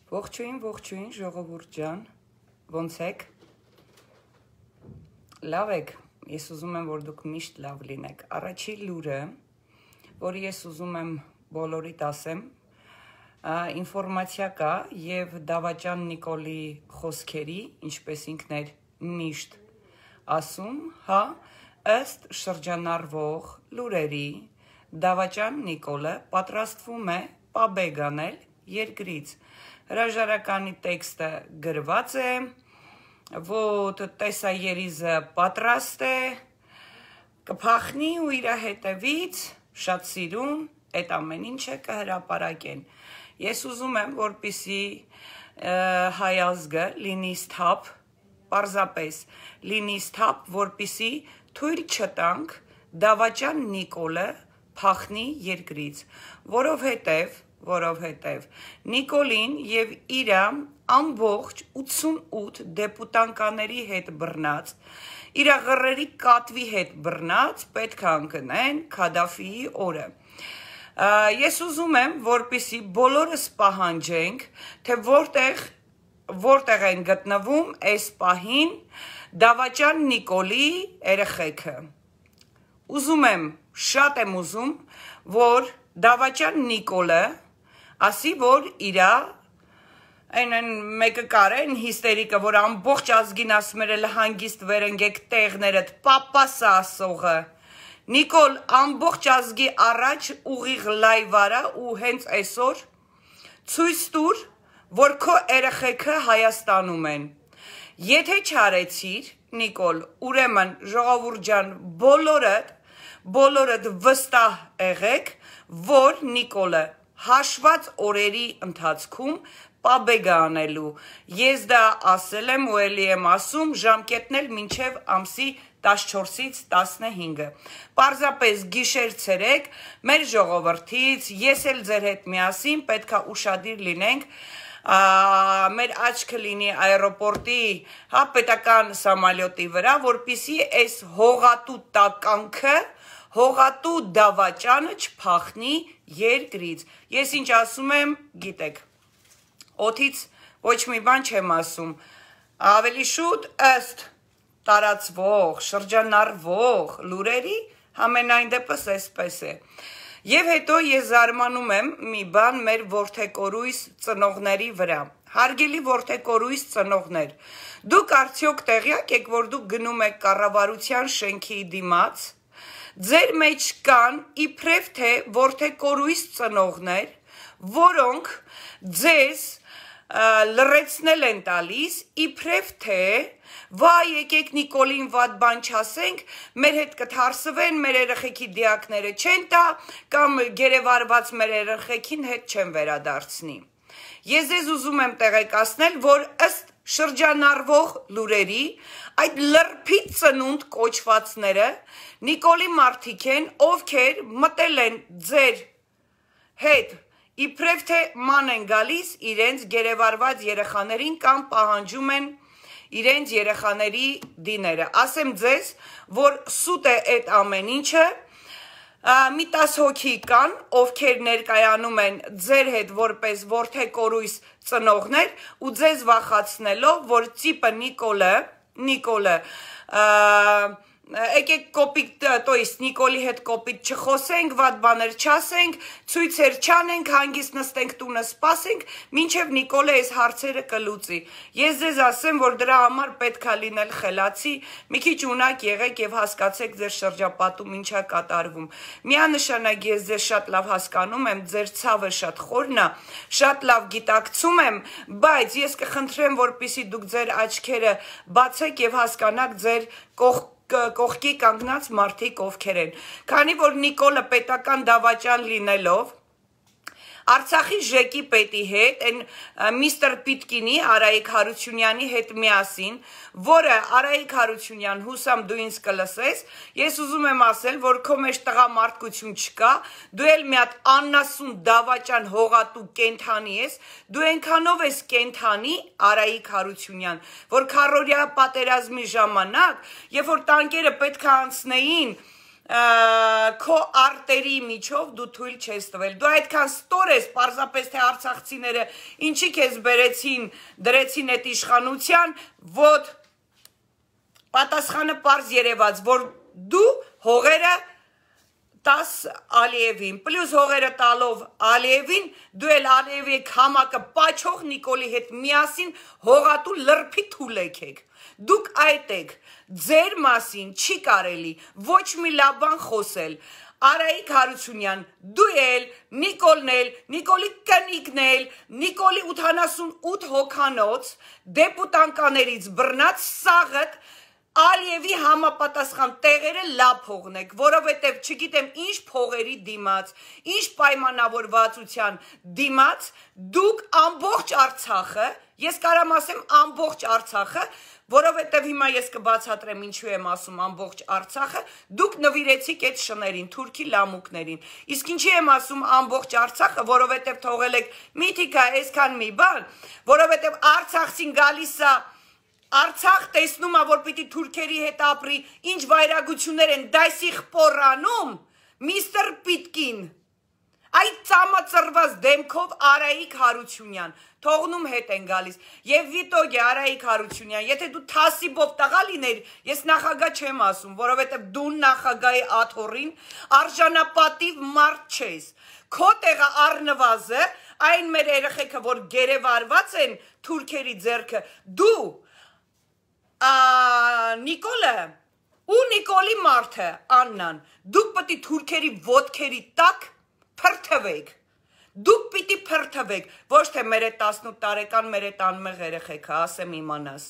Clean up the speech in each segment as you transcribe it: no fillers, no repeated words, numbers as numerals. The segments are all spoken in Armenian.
Ողջույն, ժողովուրդ ջան, ոնց եք, լավ եք, ես ուզում եմ, որ դուք միշտ լավ լինեք, առաջի լուրը, որ ես ուզում եմ բոլորիդ ասեմ, ինվորմացիա կա և Դավաճան Նիկոլի խոսքերի, ինչպես ինքն էր միշտ ասում, ըստ շրջանառվող լուրերի, Դավաճան Նիկոլը պատրաստվում է պաբեգ անել երկրից, հրաժարականի տեքստը գրված է, որ տեսաերիզը պատրաստ է, կփախնի ու իր հետևից շատ սիրուն, այդ ամեն ինչը կհրապարակեն։ Ես ուզում եմ, որպեսզի հայ ազգը լինի սթափ, պարզապես լինի սթափ, որպեսզի թույլ չտանք Դավաճան Նիկոլը փախնի երկրից, որովհետև Նիկոլին և իր ամբողջ 88 դեպուտանկաների հետ բռնած, իր ղռերի կատվի հետ բռնած պետք է ընկնեն Քադաֆիի օրը։ Ես ուզում եմ, որպեսզի բոլորս պահանջենք, թե որտեղ են գտնվում այս պահին Դավաճան Նիկոլի երեխեքը։ Շատ եմ ուզում, որ Դավաճան Նիկոլը ասի, որ իրա, այն մեկը կարեն հիստերիկը, որ ամբողջ ազգին ասում էր հանգիստ վերընգեք տեղներդ, պապասը ասողը, Նիկոլ ամբողջ ազգի առաջ ուղիղ լայվ արա ու հենց այսօր ցույց տուր, որ քո երեխեքը Հայաստանում են։ Եթե չարեցիր, Նիկոլ, ուրեմն ժողովուրդ ջան, բոլորդ վստահ եղեք, որ Նիկոլը հաշված օրերի ընթացքում պաբեգ անելու։ Ես դա ասել եմ ու էլի եմ ասում, ժամկետն էլ մինչև ամսի 14-ից 15-ը։ Պարզապես գիշեր ցերեկ, մեր ժողովրդից, ես էլ ձեր հետ միասին պետք է ուշադիր լինենք, մեր աչքը լինի այռոպորտի, պետական սամալյոտի վրա, որպեսզի այս հողատու տականքը, հողատու Դավաճանը չփախնի երկրից։ Ես ինչ ասում եմ, գիտեք, օդից ոչ մի բան չեմ ասում, ավելի շուտ ըստ տարածվող, շրջանառվող լուրերի, համենայն դեպս այսպես է։ Եվ հետո ես զարմանում եմ մի բան մեր որդեկորույս ծնողների վրա։ Հարգելի որդեկորույս ծնողներ, դուք արդյոք տեղյակ եք, որ դուք գնում եք կառավարության շենքի դիմաց, ձեր մեջ կան իբրև թե որդեկորույս ծնողներ, որոնք ձեզ լռեցնել են տալիս, իբրև թե վայ եկեք Նիկոլին վատ բան չասենք, մեր հետ կթարսվեն, մեր երեխեքի դիակները չեն տա, կամ գերեվարված մեր երեխեքին հետ չեն վերադարձնի։ Ես ձեզ ուզում եմ տեղեկացնել, որ ըստ շրջանառվող լուրերի, այդ լրփի ծնունդ կոչվածները Նիկոլի մարդիկ են, ովքեր մտել են ձեր հետ, իբրև թե ման են գալիս իրենց գերեվարված երեխաներին կամ պահանջում են իրենց երեխաների դիները։ Ասեմ ձեզ, որ սուտ է այդ ամեն ինչը, մի 10 հոգի կան, ովքեր ներկայանում են ձեր հետ որպես որդեկորույս ծնողներ ու ձեզ վախացնելով, որ ծիպը Նիկոլը, եկեք կոպիտ, Նիկոլի հետ կոպիտ չխոսենք, վատ բաներ չասենք, ցույցեր չանենք, հանգիստ նստենք տունը սպասենք, մինչև Նիկոլը այս հարցերը կլուծի։ Ես ձեզ ասեմ, որ դրա համար պետք է լինել խելացի, մի քիչ ունակ եղեք եւ հասկացեք ձեր շրջապատում ինչա կատարվում։ Միանշանակ ես ձեզ շատ լավ հասկանում եմ, ձեր ցավը շատ խորն է, շատ լավ գիտակցում եմ, բայց ես կխնդրեմ, որպեսզի դուք ձեր աչքերը բացեք եւ հասկանաք ձեր կողքի կանգնած մարդիկ ովքեր են, քանի որ Նիկոլը պետական դավաճան լինելով, Արցախի ժեկի պետի հետ, միստր Պիտկինի, Արայիկ Հարությունյանի հետ միասին, որը Արայիկ Հարությունյան, հուսամ դու ինձ կլսես, ես ուզում եմ ասել, որ քո մեջ տղամարդկություն չկա, դու էլ մի հատ աննասուն դավաճան հողատու կենթանի ես, դու այնքանով ես կենթանի Արայիկ Հարությունյան, որ քառօրյա պատերազմի ժամանակ, երբ որ տանկերը պետք է անցնեին քո արտերի միջով դու թույլ չես տվել։ Դու այդքան ստոր ես, պարզապես թե արցախցիները ինչի քեզ բերեցին, դրեցին այդ իշխանության, որ պատասխանը պարզ երևաց, որ դու հողերը տաս Ալիևին, պլյուս հողերը տալով Ալիևին, դու էլ Ալիևի քամակը պաչող Նիկոլի հետ միասին հողատու լրփի թուլ եք։ Դուք այդ եք, ձեր մասին չի կարելի ոչ մի լավ բան խոսել։ Արայիկ Հարությունյան, դու էլ, Նիկոլն էլ, Նիկոլի կնիկն էլ, Նիկոլի 88 հոգանոց դեպուտանկաներից բռնած սաղըտ Ալիևի համապատասխան տեղերը լավ փողնեք, որովհետև չգիտեմ ինչ փողերի դիմաց, ինչ պայմանավորվածության դիմաց, դուք ամբողջ Արցախը, ես կարամ ասեմ ամբողջ Արցախը, որովհետև հիմա ես կբացատրեմ ինչու եմ ասում ամբողջ Արցախը, դուք նվիրեցիք այդ շներին, թուրքի լամուկներին, իսկ ինչի եմ ասում ամբողջ Արցախը, որովհետև թողել եք միթիկա այսքան մի բան, որովհետև Արցախցին գալիս է Արցախ տեսնում է, որ պիտի թուրքերի հետ ապրի, ինչ վայրագություններ են դայսի խպորանում, միստր Պիտկին, այդ ծամածրված դեմքով Արայիկ Հարությունյան, թողնում հետ են գալիս, և վիտոգ է Արայիկ Հարությունյան, եթե դու թասիբով տղա լիներ, ես նախագահ չեմ ասում, որովհետև դու նախագահի աթոռին արժանապատիվ մարդ չես, քո տեղը առնվազը, այն մեր երեխեքը, որ գերեվարված են թուրքերի ձեռքը, դու Նիկոլը ու Նիկոլի մարդը Աննան, դուք պիտի թուրքերի ոտքերի տակ փրթվեք, դուք պիտի փրթվեք, ոչ թե մեր է 18 տարեկան, մեր է տանմեղ երեխեքը, ասեմ իմանաս,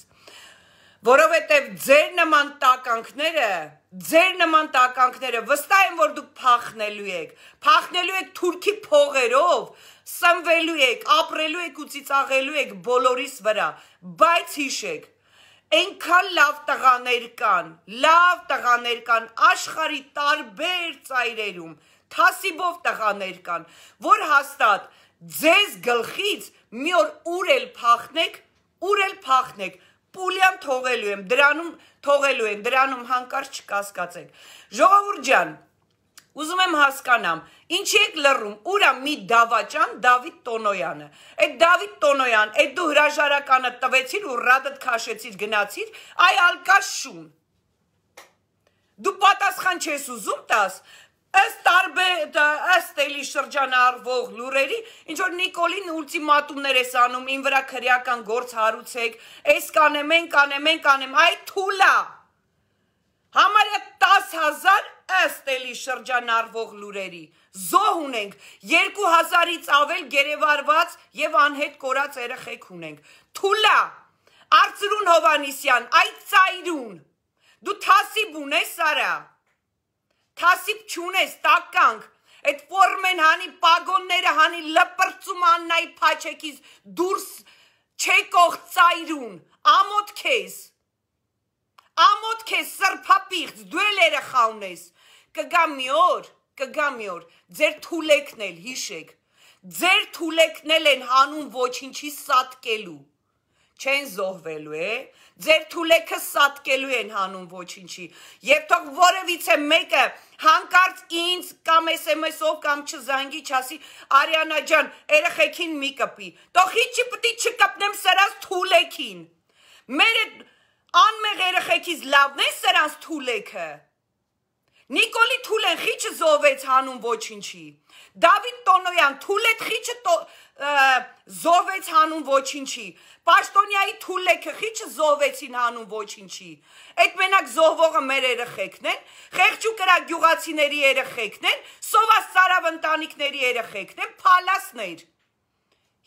որովհետև ձեր նման տականքները վստահ եմ, որ դուք փախնելու եք թուրքի փողերով, սնվելու եք, ապրելու եք ու ծիծաղելու եք բոլորիս վրա, բայց հիշեք, Այնքան լավ տղաներ կան աշխարհի տարբեր ծայրերում, թասիբով տղաներ կան, որ հաստատ ձեզ գլխից մի օր ուր էլ փախնեք, պուլյան թողելու եմ, դրանում հանկարծ չկասկածեք։ Ժողովուրդ ջան, ուզում եմ հասկանամ, ինչի եք լռում, ուրա մի դավաճան Դավիթ Տոնոյանը, այդ Դավիթ Տոնոյան, այդ դու հրաժարականը տվեցիր ու ռադդ քաշեցիր գնացիր, այ ալկաշ շուն, դու պատասխան չես ուզում տաս, ըստ էլի շրջանը արվող լուրերի, ինչ որ Նիկոլին ուլտիմատումներ ես անում, ին վրա քրեական գործ հարուցեք, այս կանեմ, այ թուլա, համարյա 10,000 ըստ էլի շրջան արվող լուրերի, զոհ ունենք, 2000-ից ավել գերեվարված և անհետ կորած երեխեք ունենք, թուլա, Արծրուն Հովանիսյան, այդ ծայրուն, դու թասիբ ունես արա, թասիբ չունես, տականք, այդ ֆորմեն հանի պագոնները հանի լպրծում աննայի պաչեքից դուրս չեկող ծայրուն, ամոտ քեզ սրպապիղծ, դու էլ երեխա ունես, կգա մի օր, ձեր թուլեկն էլ հիշեք, ձեր թուլեկն են հանուն ոչինչի սատկելու, չեն զոհվելու ձեր թուլեքը սատկելու են հանուն ոչինչի, և թող որևիցե մեկը հանկարծ ինձ կամ SMS-ով կամ չզանգի չասի, Արիանա ջան, երեխեքին մի կպի, թող հիչի պտի չկպնեմ սրանց թուլեքին, մեր անմեղ երեխեքից լավն է սրանց թուլեքը, Նիկոլի թուլեն խիչը զոհվեց հանուն ոչինչի, Դավիթ Տոնոյան թուլետ խիչը զոհվեց հանուն ոչինչի, Պաշտոնյայի թուլեքը խիչը զոհվեցին հանուն ոչինչի, այդ մենակ զոհվողը մեր երեխեքն են, խեղճ ու կրակ գյուղացիների երեխեքն են, սովասարավ ընտանիքների երեխեքն են, փալասներ,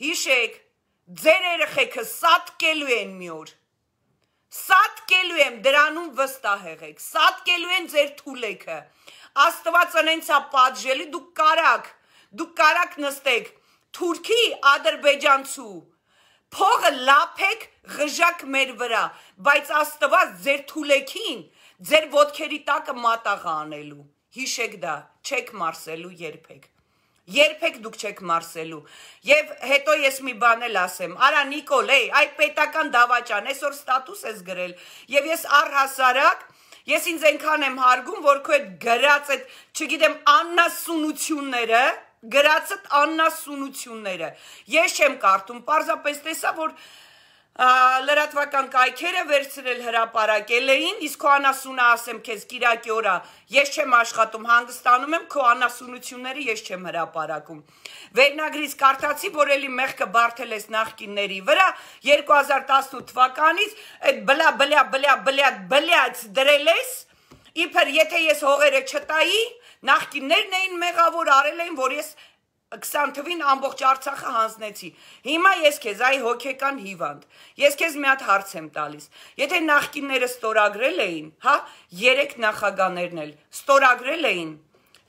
հիշեք, ձեր երեխեքը սատկելու են մի օր, սատկելու եմ, դրանում վստահ եղեք, սատկելու են ձեր թուլեքը, Աստված ընենցա պատժելի, դուք կարակ նստեք, թուրքի ադրբեջանցու, փողը լափեք ղժակ մեր վրա, բայց Աստված ձեր թուլեքին, ձեր ոտքերի տակը մատաղ անելու, հիշեք դա, չեք մարսելու երբեք, երբեք դուք չեք մարսելու, և հետո ես մի բան էլ ասեմ, արա Նիկոլ, այդ պետական դավաճան, այսօր ստատուս ես գրել, և ես առհասարակ, Ես ինձ այնքան եմ հարգում, որ քո այդ գրած այդ, չգիտեմ, աննասունությունները, գրածդ աննասունությունները, ես չեմ կարդում, պարզապես տեսա, որ լրատվական կայքերը վերցրել հրապարակել էին, իսկ քո անասունը ասեմ քեզ կիրակի օրա, ես չեմ աշխատում, հանգստանում եմ, քո անասունությունները ես չեմ հրապարակում։ Վերնագրից կարդացի, որ էլի մեղքը բարթել ես նախկինների վրա, 2018 թվականից այդ բլյաց դրել ես, իբր եթե ես հողերը չտայի, նախկիններն էին մեղավոր արել էին, որ ես 20 թվին ամբողջ Արցախը հանձնեցի։ Հիմա ես քեզ այ հոգեկան հիվանդ։ Ես քեզ մի հատ հարց եմ տալիս։ Եթե նախկինները ստորագրել էին, հա, 3 նախագաներն էլ ստորագրել էին,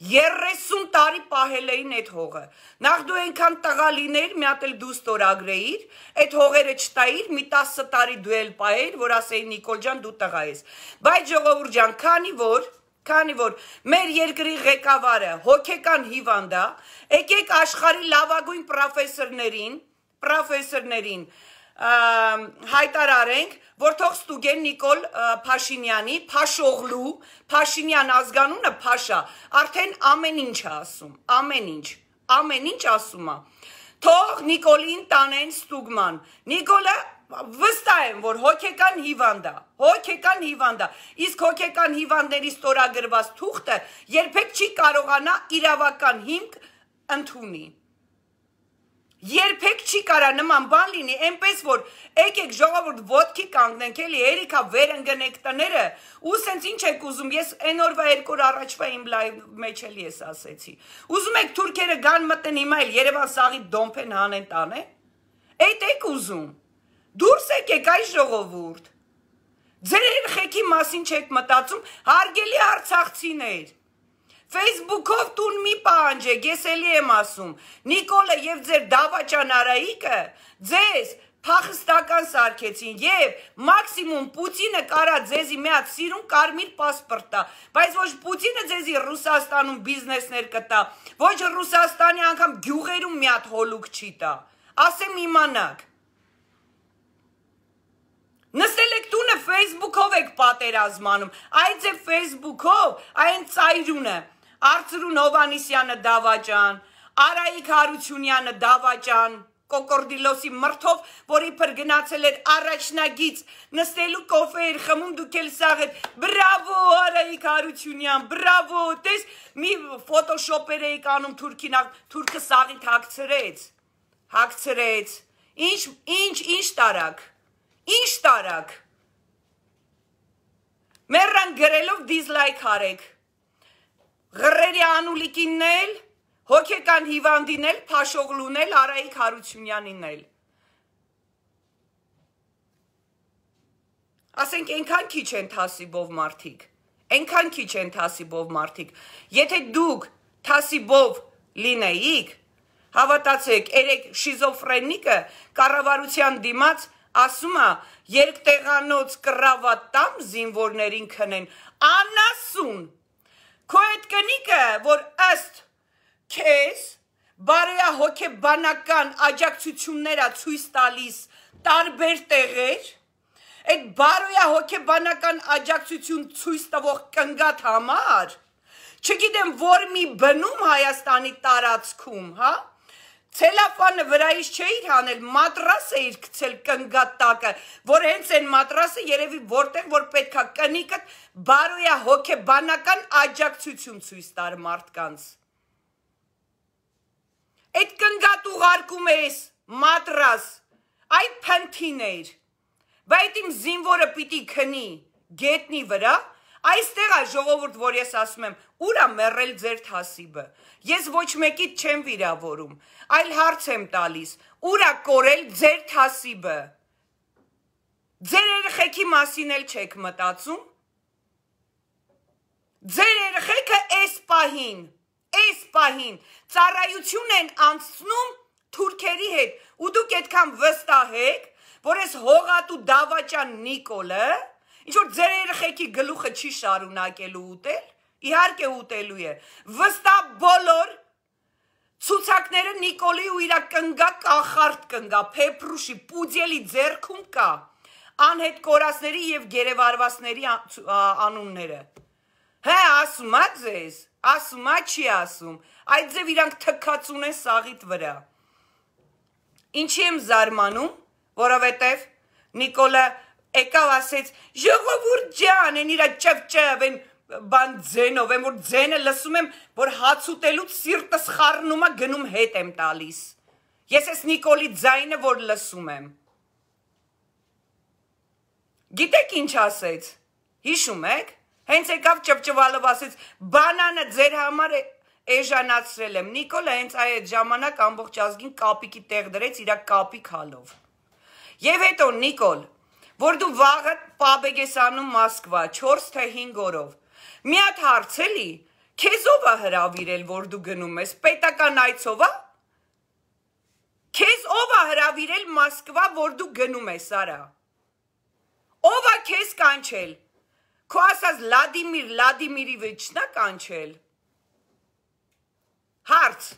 30 տարի պահել էին այդ հողը։ Նախ դու այնքան տղա լինեիր, մի հատ էլ դու ստորագրեիր, այդ հողերը չտայիր, մի 10 տարի դու էլ պահեիր, որ ասեի Նիկոլ ջան, դու տղա ես։ Բայց ժողովուրդ ջան, քանի որ մեր երկրի ղեկավարը հոգեկան հիվանդ է, եկեք աշխարհի լավագույն պրոֆեսորներին հայտարարենք, որ թող ստուգեն Նիկոլ Փաշինյանի, Փաշօղլու, Փաշինյան ազգանունը Փաշա, արդեն ամեն ինչ է ասում, ամեն ինչ ասում է։ Թող Նիկոլին տանեն ստուգման։ Նիկոլը վստահ եմ, որ հոգեկան հիվանդ է, իսկ հոգեկան հիվանդների ստորագրված թուղթը երբեք չի կարողանա իրավական հիմք ընդունի։ Երբեք չի կարա նման բան լինի, այնպես որ եկեք ժողովուրդ ոտքի կանգնենք, էլի երիքա վեր ընկնենք տները, ու սենց ինչ եք ուզում, ես այն օրվա 2 օր առաջվա իմ լայվ մեջ էլ ես ասեցի։ Ուզում եք թուրքերը գան մտնեն հիմա էլ Երևան սաղի դոմփեն հանեն տանը։ Այդ եք ուզում։ Դուրս եկեք այ ժողովուրդ։ Ձեր երեխեքի մասին չեք մտածում, հարգելի արցախցիներ։ Facebook-ով տուն մի պահանջեք, ես էլի եմ ասում, Նիկոլը և ձեր դավաճան Արայիկը ձեզ փախստական սարքեցին և մաքսիմում Պուտինը կարա ձեզի մի հատ սիրուն կարմիր պասպորտ տա, բայց ոչ Պուտինը ձեզի Ռուսաստանում բիզնեսներ կտա, ոչ Ռուսաստանի անգամ գյուղերում մի հատ հոլուկ չի տա, ասեմ իմանաք։ Նստել եք տունը Facebook-ով եք պատերազմանում, այդ ձեր Facebook-ով, այն ծայրունը, Արծրուն Հովանիսյանը դավաճան, Արայիկ Հարությունյանը դավաճան, կոկորդիլոսի մրթով, որ իբր գնացել էր առաջնագից, նստելու կոֆե էր խմում, դուք էլ սաղ եք, բրավո Արայիկ Հարությունյան, բրավո, տես մի ֆոտոշոպեր էիք անում թուրքը սաղիթ հագցրեց, ինչ տարակ, ինչ տարակ, մերրան գրելով դիզլայք հարեք, Ղռերի Անուլիկինն էլ, հոգեկան հիվանդին էլ, Փաշօղլուն էլ, Արայիկ Հարությունյանին էլ։ Ասենք այնքան քիչ են թասիբով մարդիկ, եթե դուք թասիբով լինեիք, հավատացեք, երեք շիզոֆրենիկը կառավարության դիմաց ասում է, երկտեղանոց կռավատ տամ զինվորներին քնեն, անասուն, քո այդ կնիկը, որ ըստ քեզ բարոյահոգեբանական աջակցություններ ցույց տալիս տարբեր տեղեր, այդ բարոյահոգեբանական աջակցություն ցույց տվող կնգատ համար, չգիտեմ որ մի բնում Հայաստանի տարածքում, հա, ցելոֆանը վրայից չէիր հանել, մատրաս էիր գցել կնգատ տակը, որ հենց այն մատրասը երևի որտեղ որ պետքա կնիկդ բարոյահոգեբանական աջակցություն ցույց տար մարդկանց։ Այդ կնգատ ուղարկում ես մատրաս, այ փնթիներ, բայց իմ զինվորը պիտի քնի գետնի վրա, այստեղ է ժողովուրդ, որ ես ասում եմ, ուր է մեռել ձեր թասիբը, ես ոչ մեկիդ չեմ վիրավորում, այլ հարց եմ տալիս, ուր է կորել ձեր թասիբը, ձեր երեխեքի մասին էլ չեք մտածում, ձեր երեխեքը էս պահին, ծառայություն են անցնում թուրքերի հետ, ու դուք այդքան վստահ եք, որ ես հողատու դավաճան Նիկոլը, ինչ-որ ձեր երեխեքի գլուխը չի շարունակելու ուտել, իհարկե ուտելու է, վստահ բոլոր ցուցակները Նիկոլի ու իրա կնգա կախարդ կնգա, փեփրուշի, պուդյելի ձեռքում կա, անհետ կորածների և գերեվարվածների անունները։ Հե, ասում ա ձեզ, ասում ա չի ասում, այդ ձև իրանք թքած ունեն սաղիտ վրա։ Ինչի եմ զարմանում, որովհետև Նիկոլը եկավ ասեց, ժողովուրդ ջան, են իրա ճվ, են բան ձենով, են որ ձենը լսում եմ, որ հաց ուտելուց սիրտս խառնում ա գնում հետ եմ տալիս։ Ես ես Նիկոլի ձայնը, որ լսում եմ։ Գիտեք ինչ ասեց, հիշում եք, հենց եկավ ճվճվալով ասեց, բանանը ձեր համար էժանացրել եմ, Նիկոլը հենց այդ ժամանակ ամբողջ ազգին կապիկի տեղ դրեց իրա կապիկ հալով։ Եվ հետո Նիկոլ, որ դու վաղը պաբեգ ես անում Մոսկվա 4 թե 5 օրով, մի հատ հարց էլի, քեզ ով ա հրավիրել, որ դու գնում ես, պետական այցով ա? Քեզ ով ա հրավիրել Մոսկվա, որ դու գնում ես, արա։ Ով ա քեզ կանչել, քո ասած Վլադիմիրիվիչն ա կանչել։ Հարց,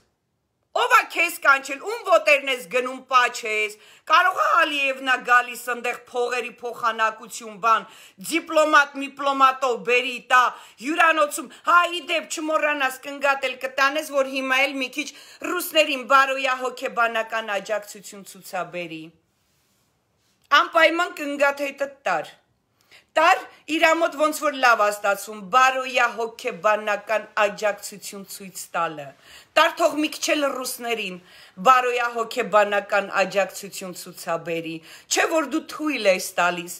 ով ա քեզ կանչել, ում ոտերն ես գնում պաչես, կարող ա Ալիևնա գալիս ընդեղ փողերի փոխանակություն բան, դիպլոմատով բերի տա, հյուրանոցում, հա իդեպ չմոռանաս կնգատել կտանես, որ հիմա էլ մի քիչ ռուսներին բարոյա հոգեբանական աջակցություն ցուցաբերի։ Անպայման կնգաթեթը տար իրա մոտ ոնց որ լավ ա ստացվում, բարոյա հոգեբանական աջակցություն ցույց տալը, տար թող մի քիչ էլ ռուսներին բարոյա հոգեբանական աջակցություն ցուցաբերի, չէ որ դու թույլ ես տալիս,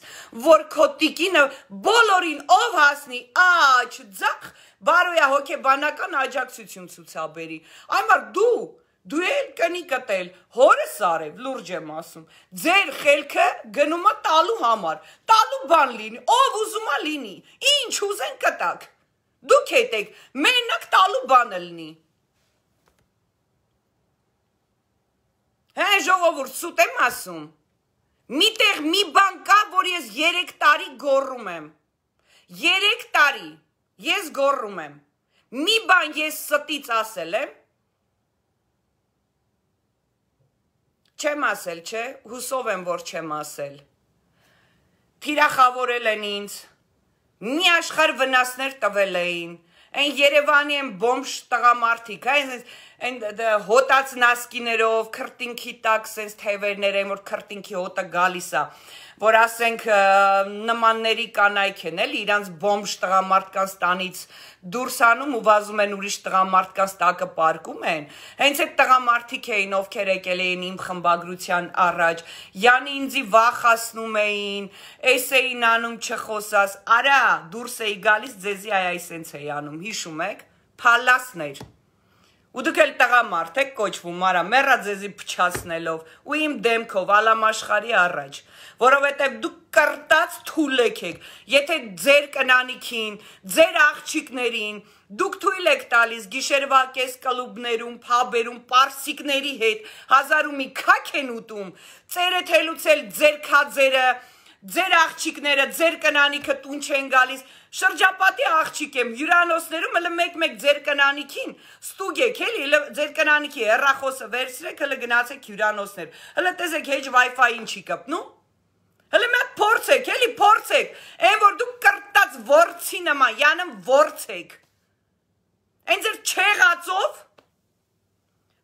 որ քո տիկինը բոլորին ով հասնի, աչ, ձախ, բարոյա հոգեբանական աջակցություն ցուցաբերի, այմար դու էլ կնի կտել, հորս արև, լուրջ եմ ասում, ձեր խելքը գնում ա տալու համար, տալու բան լինի, ով ուզում ա լինի, ինչ ուզեն կտակ, դուք հետեք, մենակ տալու բանը լինի։ Հե ժողովուրդ սուտ եմ ասում, միտեղ մի բան կա, որ ես 3 տարի գոռում եմ, 3 տարի ես գոռում եմ, մի բան ես ստից ասել եմ, չեմ ասել, չէ, հուսով եմ, որ չեմ ասել, թիրախավորել են ինձ, մի աշխարհ վնասներ տվել էին, այն Երևանի են բոմժ տղամարդիկ, այն հոտած նասկիներով, քրտինքի տակ սենց թևերներ են, որ քրտինքի հոտը գալիս ա, որ ասենք նմանների կանայք են, էլի իրանց բոմժ տղամարդկանց տանից դուրս անում ու վազում են ուրիշ տղամարդկանց տակը պարկում են, հենց այդ տղամարդիկ էին, ովքեր եկել էին իմ խմբագրության առաջ, յանի ինձի վախացնում էին, էս էին անում չխոսաս, արա դուրս էի գալիս ձեզի այ սենց էի անում, հիշում եք, փալասներ, ու դուք էլ տղամարդ եք կոչվում, արա մեռա ձեզի փչացնելով ու իմ դեմքով ալամաշխարի առաջ, որովհետև դուք կրտած թուլեք եք, եթե ձեր կնանիքին, ձեր աղջիկներին, դուք թույլ եք տալիս գիշերվա կես կլուբներում, փաբերում, պարսիկների հետ, հազար ու մի քաք են ուտում, ծերը թելուցել ձեր քաձերը, ձեր աղջիկները, ձեր կնանիքը տուն չեն գալիս, շրջապատի աղջիկ եմ, հյուրանոցներում հլը մեկ ձեր կնանիքին, ստուգ եք, էլի, ձեր կնանիքի հեռախոսը վերցրեք, հլը գնացեք հյուրանոցներ, հլը տեսեք հեջ Wi-Fi-ին չի կպնում, հլը մեկ փորձեք, էլի փորձեք, այն որ դուք կրտած ворցի նման, յանım ворցեք, այն ձեր չեղածով,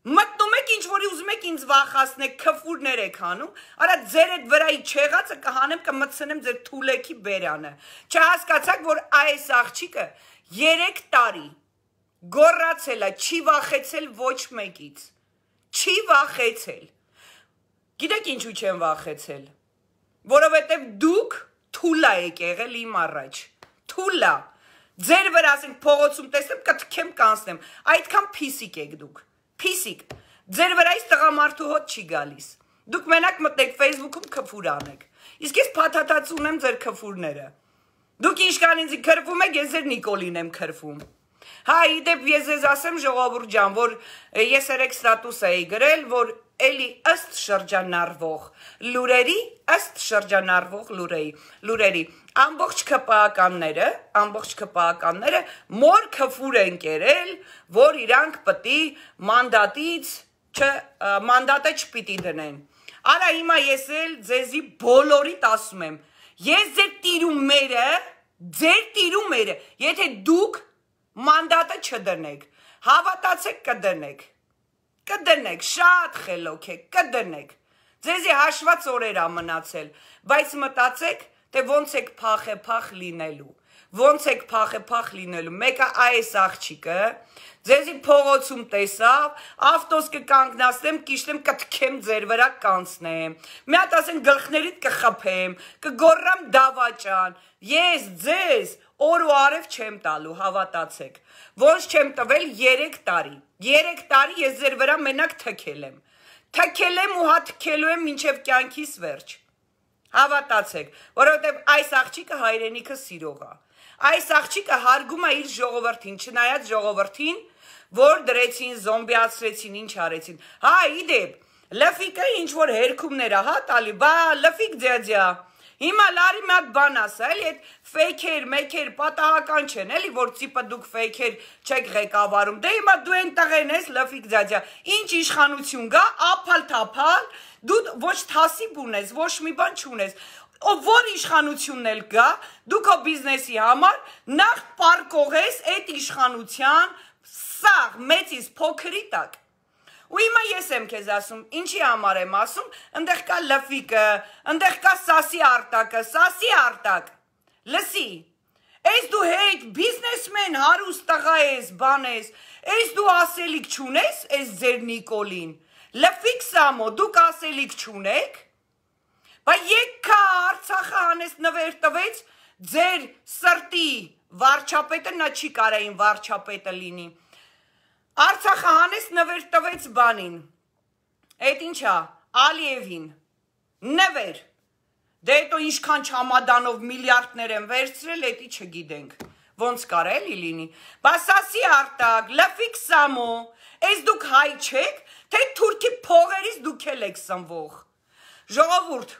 մտնում եք ինչ որի ուզում եք ինձ վախացնեք, քֆուրներ եք անում, արա ձեր այդ վրայի չեղածը կհանեմ կմտցնեմ ձեր թուլեքի բերանը, չհասկացաք, որ այս աղջիկը 3 տարի գոռացել է, չի վախեցել ոչ մեկից, չի վախեցել, գիտեք ինչու չեմ վախեցել, որովհետև դուք թուլա եք եղել իմ առաջ, թուլա, ձեր վրա ասենք փողոցում տեսնեմ կթքեմ կանցնեմ, այդքան փիսիկ եք դուք, Փիսիկ, ձեր վրայից տղամարդու հոտ չի գալիս, դուք մենակ մտնեք Facebook-ում քֆուր անեք, իսկ ես փաթաթած ունեմ ձեր քֆուրները, դուք ինչքան ինձ քրվում եք, ես ձեր Նիկոլին եմ քրվում, հա իդեպ ես ձեզ ասեմ ժողովուրդ ջան, որ ես երեք ստատուս էի գրել, որ էլի ըստ շրջանառվող լուրերի, ամբողջ քպականները մոր քֆուր են կերել, որ իրանք պտի մանդատը չպիտի դնեն, արա հիմա ես էլ ձեզի բոլորիդ ասում եմ, Ես ձեր տիրումերը, եթե դուք մանդատը չդնեք, հավատացեք կդնեք, շատ խելոք եք, կդնեք, ձեզի հաշված օրեր ա մնացել, բայց մտածեք, թե ոնց եք փախ լինելու, մեկը այս աղջիկը, ձեզի փողոցում տեսավ, ավտոս կկանգնացնեմ, կիշտեմ, կթքեմ ձեր վրա կանցնեմ, մի հատ ասեն գլխներիդ կխփեմ, կգոռամ դավաճան, ես ձեզ օր ու արև չեմ տալու, հավատացեք, ոնց չեմ տվել 3 տարի ես ձեր վրա մենակ թքել եմ ու հա թքելու եմ մինչև կյանքիս վերջ, հավատացեք, որովհետև այս աղջիկը հայրենիքը սիրող ա, այս աղջիկը հարգում է իր ժողովրդին, չնայած ժողովրդին, որ դրեցին, զոմբիացրեցին, ինչ արեցին, հա իդեպ, լֆիկը ինչ որ հերքումներ ա, հա տալի, բա լֆիկ ձյաձյա, հիմա լարի մի հատ բան ասա, էլի այդ ֆեյքեր, մեկեր, պատահական չեն, էլի որ ծիպը դուք ֆեյքեր չեք ղեկավարում, դե հիմա դու են տղեն ես լֆիկ ձյաձյա, ինչ իշխանություն գա, ափալ-թափալ, դու ոչ թասիբ ունես, ոչ մի բան չունես, որ իշխանությունն էլ գա, դու քո բիզնեսի համար նախ պարկողես այդ իշխանության սաղ մեծից փոքրի տակ, ու հիմա ես եմ քեզ ասում, ինչի համար եմ ասում, ընդեղ կա լֆիկը, ընդեղ կա Սասի Արտակ, լսի, ես դու հետ բիզնեսմեն հարուստ տղա ես, բան ես, ես դու ասելիք չունես, ես ձեր Նիկոլին, լֆիկ Սամո, դուք ասելիք չունեք, բա եկա Արցախը հանես նվեր տվեց, ձեր սրտի վարչապետը, նա չի կարային վարչապետը լինի, Արցախը հանես նվեր տվեց բանին, այդ ինչա, Ալիևին, նվեր, դե հետո ինչքան չամադանով միլիարդներ են վերցրել, էդի չգիտենք, ոնց կար էլի լինի, բա Սասի Արտակ, լֆիկ Սամո, ես դուք հայ չեք, թե թուրքի փողերից դուք էլ եք սնվող, ժողովուրդ,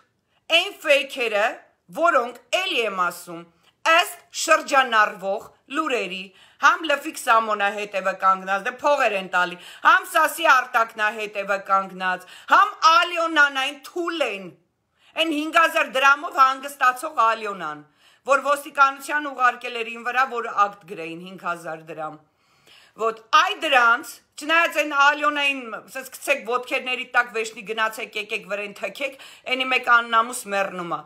այն ֆեյքերը, որոնք էլի եմ ասում, ըստ շրջանառվող լուրերի, համ լֆիկ Սամոնա հետևը կանգնած, դե փողեր են տալի, համ Սասի Արտակնա հետևը կանգնած, համ Ալյոնան այն թուլ են, այն 5000 դրամով հանգստացող Ալյոնան, որ ոստիկանության ուղարկել էր ին վրա, որ ակտ գրեին 5000 դրամ, ոտ այ դրանց, չնայած այն Ալյոնային, սկսեք ոտքերների տակ վեշնի գնացեք, եկեք վրեն թքեք, այնի մեկ աննամուս մեռնում ա,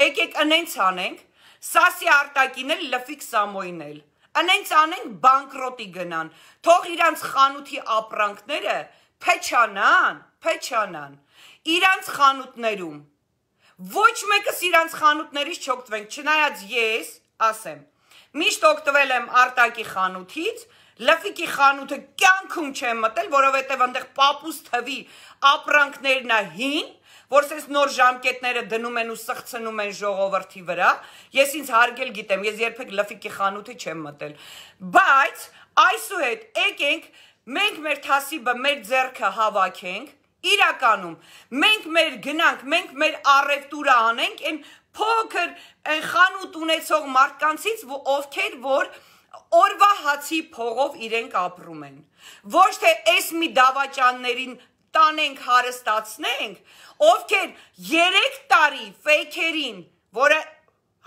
եկեք ընենց անենք, Սասի Արտակին էլ, լֆիկ Սամոյին էլ, ընենց անենք բանկրոտի գնան, թող իրանց խանութի ապրանքները փեչանան, իրանց խանութներում, ոչ մեկս իրանց խանութներից չօգտվենք, չնայած ես, ասեմ, միշտ օգտվել եմ Արտակի խանութից, լֆիկի խանութը կյանքում չեմ մտել, որովհետև այնտեղ պապուս թվի ապրանքներն ա հին, որ սենց նոր ժամկետները դնում են ու սղցնում են ժողովրդի վրա, ես ինձ հարգել գիտեմ, ես երբեք լֆիկի խանութի չեմ մտել, բայց այսուհետ եկենք, մենք մեր թասիբը, մեր ձեռքը հավաքենք, իրականում, մենք մեր գնանք, մենք մեր առևտուրը անենք, այն փոքր խանութ ունեցող մարդկանցից, ովքեր որ օրվա հացի փողով իրենք ապրում են, ոչ թե այս մի դավաճաններին տանենք հարստացնենք, ովքեր 3 տարի ֆեյքերին, որը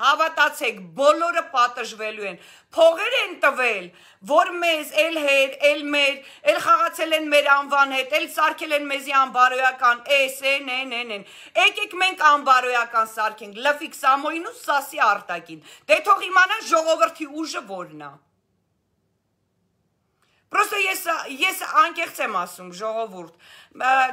հավատացեք, բոլորը պատժվելու են, փողեր են տվել, որ մեզ էլ հեր, էլ մեր, էլ խաղացել են մեր անվան հետ, էլ սարքել են մեզի անբարոյական, եկեք մենք անբարոյական սարքենք, լֆիկ Սամոյին ու Սասի Արտակին, դե թող իմանան ժողովրդի ուժը որն ա, Պրոստը ես անկեղծ եմ ասում, ժողովուրդ,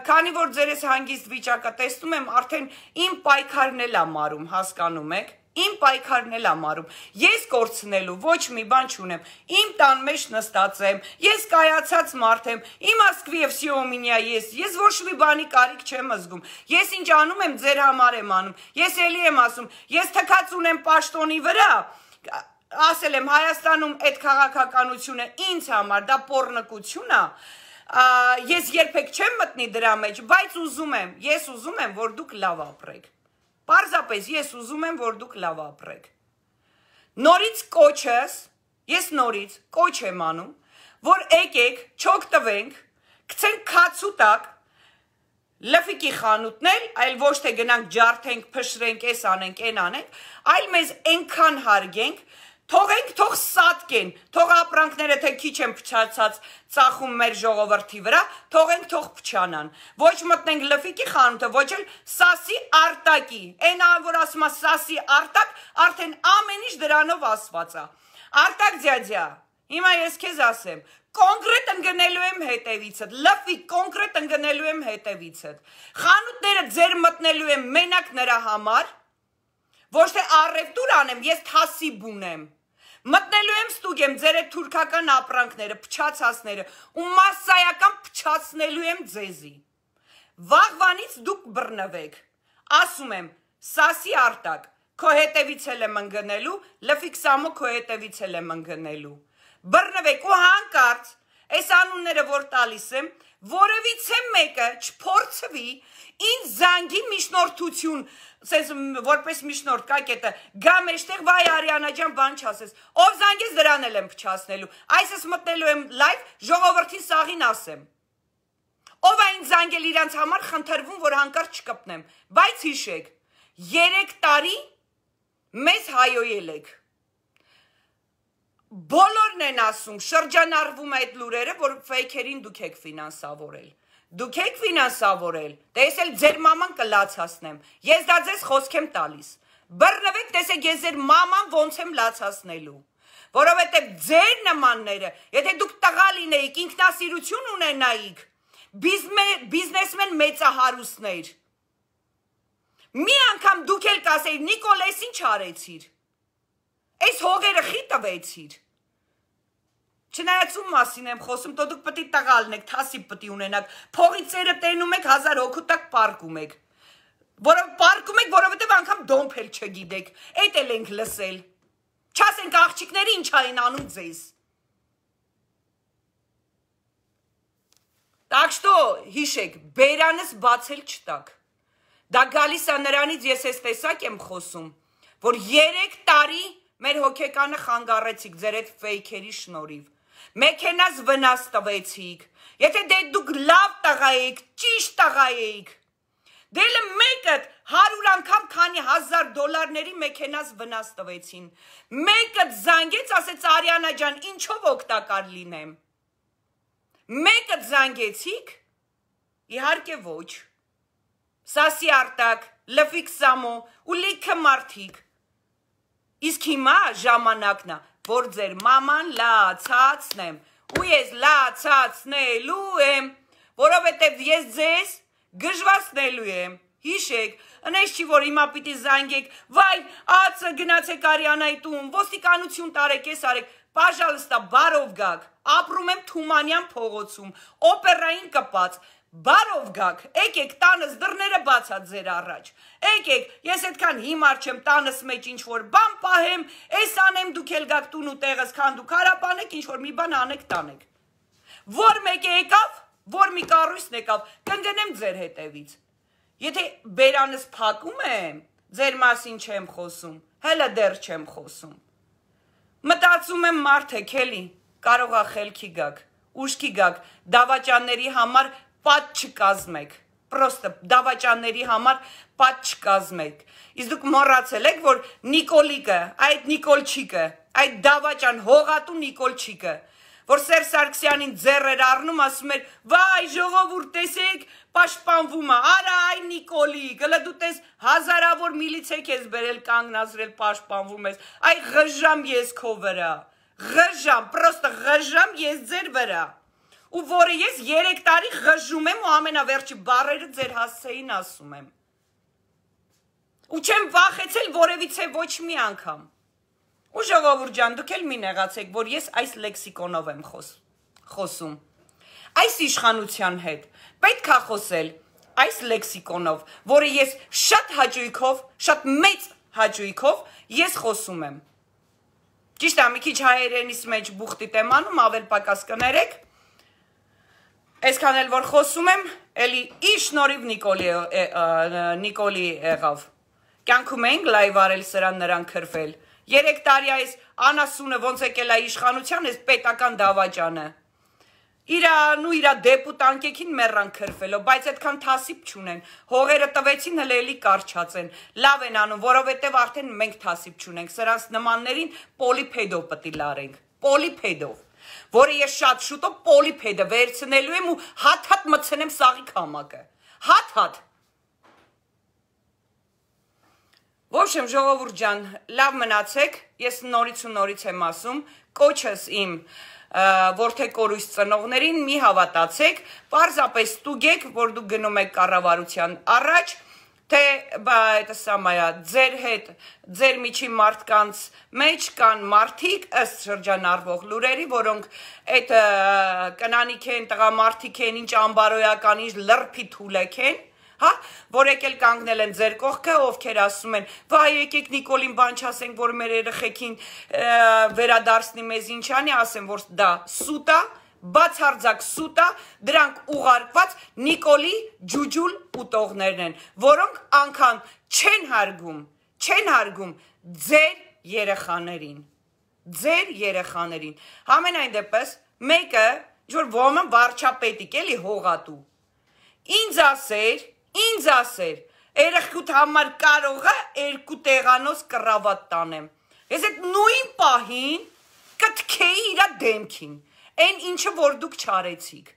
քանի որ ձերես հանգիստ վիճակը տեսնում եմ, արդեն իմ պայքարն էլ ա մարում, հասկանում եք, իմ պայքարն էլ ա մարում, ես կորցնելու ոչ մի բան չունեմ, իմ տան մեջ նստած եմ, ես կայացած մարդ եմ, իմ ասկվի և սիո մինյա ես ոչ մի բանի կարիք չեմ զգում, ես ինչ անում եմ, ձեր համար եմ անում, ես էլի եմ ասում, ես թքած ունեմ պաշտոնի վրա, ասել եմ Հայաստանում այդ քաղաքականությունը ինձ համար դա պոռնկություն ա, ես երբեք չեմ մտնի դրա մեջ, բայց ես ուզում եմ, որ դուք լավ ապրեք, պարզապես ես ուզում եմ, որ դուք լավ ապրեք, նորից կոչս, ես նորից կոչ եմ անում, որ եկեք, չօգտվենք, գցենք քացու տակ, լֆիկի խանութներ, այլ ոչ թե գնանք ջարդենք, փշրենք, էս անենք, այն անենք, այլ մեզ այնքան հարգենք, թողենք, թող սատկեն, թող ապրանքները թե քիչ են փչացած ծախում մեր ժողովրդի վրա, թողենք, թող փչանան, ոչ մտնենք լֆիկի խանութը, ոչ էլ սասի արտակի, այն որ ասում է սասի արտակ, արդեն ամեն ինչ դրանով ասված է, արտակ ձյաձյա, հիմա ես քեզ ասեմ, կոնկրետ ընկնելու եմ հետևիցդ, լֆիկ կոնկրետ ընկնելու եմ հետևիցդ, խանութները ձեր մտնելու եմ մենակ նրա համար, ոչ թե առևտուր անեմ, ես թասիբ ունեմ, մտնելու եմ ստուգեմ ձեր այդ թուրքական ապրանքները, փչացածները ու մասսայական փչացնելու եմ ձեզի, վաղվանից դուք բռնվեք, ասում եմ, սասի արտակ, քո հետևից էլ եմ ընկնելու, լֆիկ սամո քո հետևից էլ եմ ընկնելու, բռնվեք ու հանկարծ, այս անունները որ տալիս եմ, որևիցե մեկը չփորձվի ինձ զանգի միջնորդություն, սենց որպես միջնորդ կակետը, գա մեջտեղ վայ Արիանա ջան բան չասես, ով զանգես դրան էլ եմ փչացնելու, այսս մտնելու եմ լայվ, ժողովրդին սաղին ասեմ, ով այն զանգել իրանց համար խնդրվում, որ հանկարծ չկպնեմ, բայց հիշեք, 3 տարի մեզ հայոյել եք, բոլորն են ասում, շրջանառվում այդ լուրերը, որ ֆեյքերին դուք եք ֆինանսավորել, դուք եք ֆինանսավորել, դες էլ ձեր մաման կլացացնեմ, ես դա ձեզ խոսք եմ տալիս, բռնվեք, տեսեք ես ձեր մաման ոնց եմ լացացնելու, որովհետև ձեր նմանները, եթե դուք տղա լինեիք, ինքնասիրություն ունենայիք, բիզնեսմեն մեծահարուստներ, մի անգամ դուք էլ կասեիք, Նիկոլ, ես ինչ արեցիր, այս հողերը խի տվեցիր, չնայած ում մասին եմ խոսում, դուք պետք է տղա լինեք, թասիբ պետք է ունենաք, փողի ծերը տենում եք, 1000 հոգու տակ պարկում եք, որովհետև անգամ դոմփել չգիտեք, էդ էլ ենք լսել, չասենք աղջիկները ինչ այն անում ձեզ, так что հիշեք, բերանս բացել չտակ, դա գալիս է նրանից ես ես տեսակ եմ խոսում, որ 3 տարի մեր հոգեկանը խանգարեցիք ձեր այդ ֆեյքերի շնորհիվ, մեքենաս վնաս տվեցիք, եթե դե դուք լավ տղա էիք, ճիշտ տղա էիք, դելը մեկը 100 անգամ քանի $1000 մեքենաս վնաս տվեցին, մեկը զանգեց, ասեց Արիանա ջան, ինչով օգտակար լինեմ, մեկը զանգեցիք, իհարկե ոչ, սասի արտակ, լֆիկ սամո ու լիքը մարդիկ, իսկ հիմա ժամանակն է, որ ձեր մաման լացացնեմ, ու ես լացացնելու եմ, որովհետև ես ձեզ գժվացնելու եմ, հիշեք, ընես չի, որ հիմա պիտի զանգեք, վայ, ացը գնացեք Արիանայի տուն, ոստիկանություն տարեք, ես արեք, պաժալստա, բարով գաք, ապրում եմ Թումանյան փողոցում, օպերային կպած, բարով գաք, եկեք տանս դռները բացած ձեր առաջ, եկեք, ես այդքան հիմար չեմ տանս մեջ ինչ-որ բան պահեմ, ես անեմ դուք էլ գաք տուն ու տեղս քան դուք հարապանեք, ինչ-որ մի բան անեք տանեք, որ մեկ եկավ, որ մի կառույցն եկավ, կընկնեմ ձեր հետևից, եթե բերանս փակում եմ, ձեր մասին չեմ խոսում, հելը դեռ չեմ խոսում, մտածում եմ մարդ եք էլի, կարող է խելքի գաք, ուշքի գաք, դավաճանների համար պատ չկազմեք, պրոստը դավաճանների համար պատ չկազմեք, իսկ դուք մոռացել եք, որ Նիկոլիկը, այդ Նիկոլչիկը, այդ դավաճան հողատու Նիկոլչիկը, որ Սերժ Սարգսյանին ձեռ էր առնում, ասում էր, վայ ժողովուրդ տեսեք, պաշտպանվում է, արա այ Նիկոլիկ, հլը դու տես հազարավոր միլիցեք ես բերել կանգնացրել պաշտպանվում ես, այ ղժամ ես քո վրա, ղժամ, պրոստը ղժամ ես ձեր վրա, ու որը ես 3 տարի ղժում եմ ու ամենավերջի բառերը ձեր հասցեին ասում եմ, ու չեմ վախեցել որևիցե ոչ մի անգամ, ու ժողովուրդ ջան, դուք էլ մի նեղացեք, որ ես այս լեքսիկոնով եմ խոսում, այս իշխանության հետ, պետք է խոսել այս լեքսիկոնով, որը ես շատ հաճույքով, շատ մեծ հաճույքով ես խոսում եմ, ճիշտ է, մի քիչ հայերենիս մեջ բուխտիտ եմ անում, ավել պակաս կներեք, այսքան էլ որ խոսում եմ, էլի իր շնորհիվ Նիկոլի եղավ, կյանքում էինք լայվ արել սրան նրան քրվել, 3 տարի այս անասունը ոնց եկել է իշխանության, այս պետական դավաճանը, իրա դեպուտանկեքին մեռան քրֆելով, բայց այդքան թասիբ չունեն, հողերը տվեցին հլելի կարճացեն, լավ են անում, որովհետև արդեն մենք թասիբ չունենք, սրանց նմաններին պոլիպեդով պտի լարենք, պոլիպեդով, որը ես շատ շուտով պոլիպեդը վերցնելու եմ ու հատ-հատ մցնեմ սաղի քամակը, հատ-հատ։ Ոբշեմ ժողովուրդ ջան, լավ մնացեք, ես նորից ու նորից եմ ասում, կոչս իմ որդեկորույս ծնողներին մի հավատացեք, պարզապես ստուգեք, որ դուք գնում եք կառավարության առաջ, թե это самое, ձեր հետ, ձեր միջի մարդկանց մեջ կան մարդիկ, ըստ շրջանառվող լուրերի, որոնք այդ կնանիք են, տղամարդիկ են, ինչ ամբարոյական, ինչ լրփի թուլեք են, հա, որ եկել կանգնել են ձեր կողքը, ովքեր ասում են, վայ եկեք Նիկոլին բան չասենք, որ մեր երեխեքին վերադարձնի մեզ ինչ անի, ասեմ, որ դա սուտ է, բացարձակ սուտ է, դրանք ուղարկված Նիկոլի ջուջուլ ուտողներն են, որոնք անգամ չեն հարգում ձեր երեխաներին, համենայն դեպս, մեկը, որ ոմը վարչապետիկ էլի հողատու, ինձ ասեր, երեխքուտ համար կարող է 2 տեղանոց կռավատ տանեմ, ես այդ նույն պահին կթքեի իրա դեմքին, այն ինչը որ դուք չարեցիք,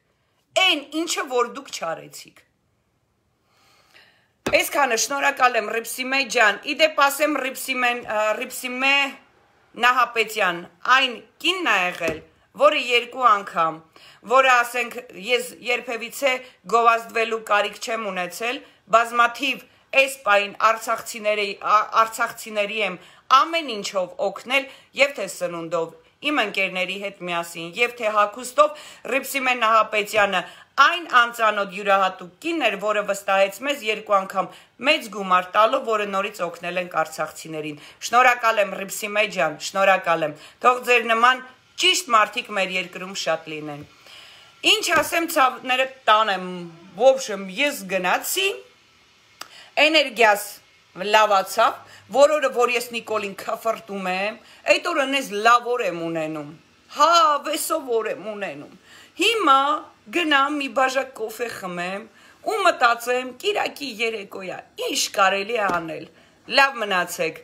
Այսքանը շնորհակալ եմ Ռիփսիմե ջան, իդեպ ասեմ Ռիփսիմե Նահապետյան, այն կինն է եղել, որը 2 անգամ, որը ասենք ես երբևիցե գովազդվելու կարիք չեմ ունեցել, բազմաթիվ այս պահին արցախցիների եմ ամեն ինչով օգնել եւ թե սնունդով, իմ ընկերների հետ միասին եւ թե հագուստով Ռիփսիմե Նահապետյանը այն անծանոթ յուրահատուկ կին էր, որը վստահեց մեզ 2 անգամ մեծ գումար տալով, որը նորից օգնել ենք արցախցիներին։ Շնորհակալ եմ Ռիփսիմե ջան, շնորհակալ եմ։ Թող ձեր նման ճիշտ մարդիկ մեր երկրում շատ լինեն։ Ինչ ասեմ, ցավները տանեմ, ոբշեմ, ես գնացի, էներգիաս լավացավ, որորը որ ես Նիկոլին քֆրտում եմ, այդ օրը նես լավ օր եմ ունենում, հա, վեսով օր եմ ունենում, հիմա գնամ մի բաժակ կոֆե խմեմ ու մտածեմ կիրակի երեկոյա, ինչ կարելի է անել, լավ մնացեք,